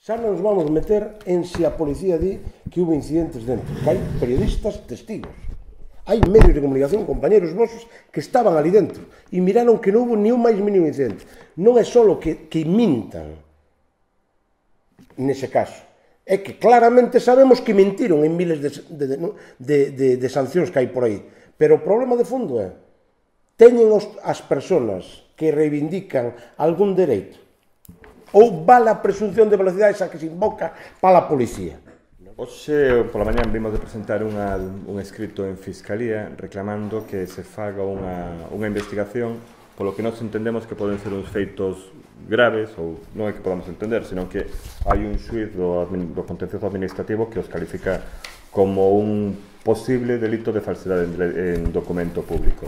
Xa non nos vamos meter en se a policía di que hubo incidentes dentro, que hai periodistas testigos. Hai medios de comunicación, compañeros vosos, que estaban ali dentro e miraron que non hubo ni un máis mínimo incidente. Non é só que mintan nese caso, é que claramente sabemos que mentiron en miles de sancións que hai por aí. Pero o problema de fondo é, teñen as persoas que reivindican algún dereito ou vale a presunción de velocidade esa que se invoca para a policía? Hoxe, pola mañán, vimos de presentar un escrito en Fiscalía reclamando que se faga unha investigación polo que nós entendemos que poden ser uns feitos graves, ou non é que podamos entender, senón que hai un xuiz do contencioso administrativo que os califica como un posible delito de falsedade en documento público.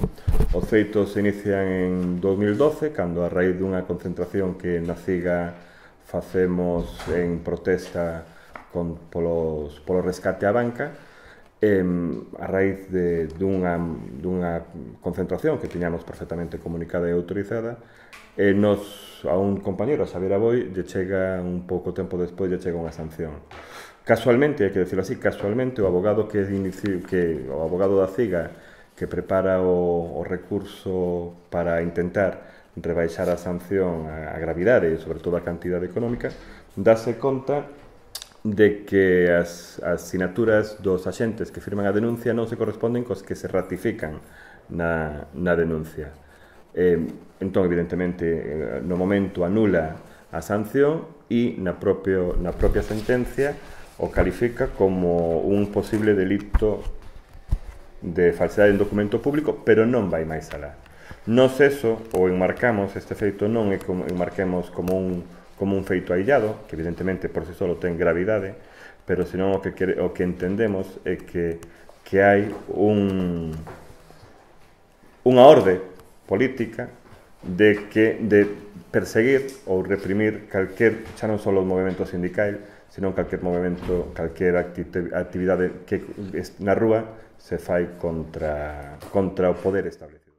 Os feitos se inician en 2012, cando a raíz dunha concentración que na CIGA facemos en protesta polo rescate á banca, a raíz dunha concentración que tiñamos perfectamente comunicada e autorizada, a un compañero, a Xavier Aboi, lle chega un pouco tempo despois, lle chega unha sanción. Casualmente, hai que decirlo así, casualmente, o abogado da CIGA que prepara o recurso para intentar rebaixar a sanción, a gravidade e, sobre todo, a cantidade económica, dáse conta de que as sinaturas dos axentes que firman a denuncia non se corresponden cos que se ratifican na denuncia. Entón, evidentemente, no momento anula a sanción e na propia sentencia o califica como un posible delito de falsedade en documento público, pero non vai máis alá. Nos eso, ou enmarcamos este feito, non é como enmarquemos como un feito aillado, que evidentemente por si solo ten gravidade, pero senón o que entendemos é que hai unha orde política de perseguir ou reprimir calquer, xa non só o movimento sindical, senón calquer movimento, calquer actividade que na rúa se fai contra o poder establecido.